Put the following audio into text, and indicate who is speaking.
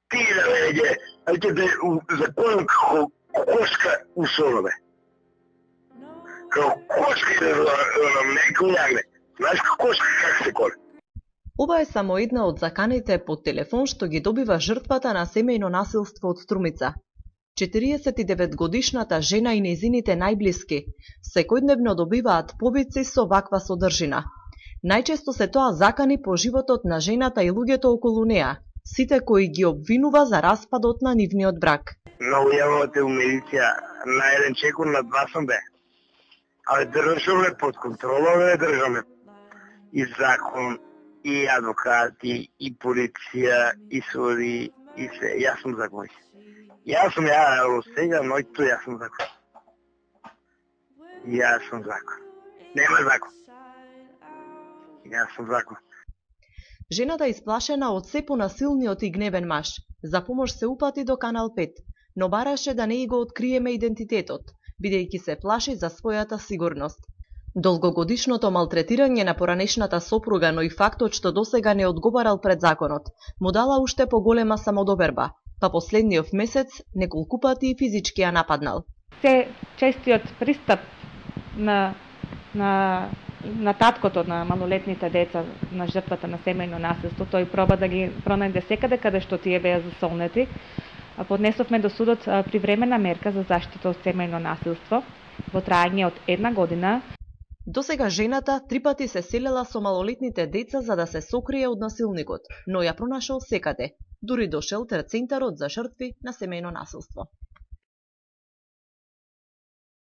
Speaker 1: Ти да веќе, ќе те законам како кошка у сонове. Како кошка да меко јагне. Знаеш како кошка как се коле?
Speaker 2: Ова е само една од заканите по телефон што ги добива жртвата на семејно насилство од Струмица. 49-годишната жена и нејзините најблиски секојдневно добиваат повици со ваква содржина. Најчесто се тоа закани по животот на жената и луѓето околу неа, сите кои ги обвинува за распадот на нивниот брак.
Speaker 1: Многу јавате у медиција, на еден чекор на 2 сам бе. Але држаме под контрола, држаме и закон, и адвокати, и полиција, и суди, и се. Јас сум закон. Јас сега, ноќто јас сум закон. Јас сум закон. Нема закон. Јас сум закон.
Speaker 2: Жената исплашена од се понасилниот и гневен маж, за помош се упати до Канал 5, но бараше да не го откриеме идентитетот, бидејќи се плаши за својата сигурност. Долгогодишното малтретирање на поранешната сопруга, но и фактот што досега не одговарал пред законот, му дала уште поголема самодоверба, па последниот месец неколку пати и физички ја нападнал.
Speaker 3: Се честиот пристап на таткото на малолетните деца, на жртвата на семејно насилство, тој проба да ги пронајде секаде каде што тие беа засолнети. Поднесовме до судот привремена мерка за заштита од семејно насилство во трајање од 1 година.
Speaker 2: Досега жената 3 пати се селела со малолетните деца за да се сокрие од насилникот, но ја пронашол секаде, дури до шелтер центарот за жртви на семејно насилство.